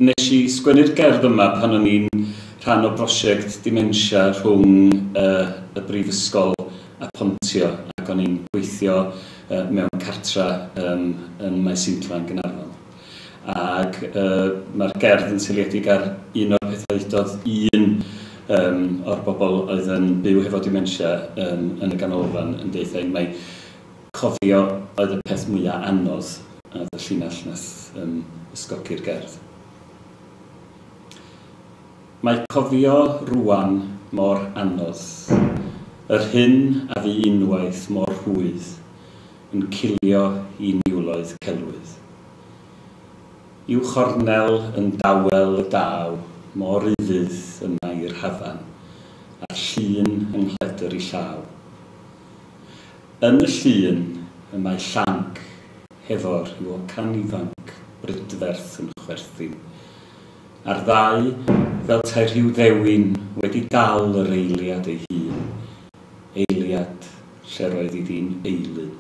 Nes i sgwennu'r gerdd yma pan o'n i'n rhan o brosiect dementia rhwng y Brifysgol a Pontio, ac o'n i'n gweithio mewn cartra yn Maes Inclan, Gaernarfon. Ac mae'r gerdd yn seiliedig ar un o'r pethau ddudodd un o'r bobl oedd yn byw hefo dementia yn y ganolfan yn deud wrtha i mai cofio oedd y peth mwyaf anodd, a oedd y llinell nath ysgogi'r gerdd. Mae cofio rŵan mor anodd, yr hyn a fu unwaith mor rhwydd, yn cilio i niwloedd celwydd. I'w chornel yn dawel y daw mor ufudd yma i'r hafan, a'r llun yng nghledr ei llaw. Yn y llun y mae llanc hefo rhyw ocan ifanc brydferth yn chwerthin, a'r ddau fel tae rhyw ddewin wedi dal yr eiliad ei hun, eiliad lle'r oedd iddi'n eilun.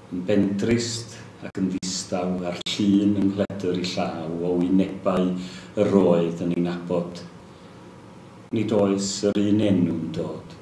Yn bendrist ac yn ddistaw a'r llun yng nghledr ei llaw o wynebau yr oedd yn ei nabod. Nid oes yr un enw'n dod.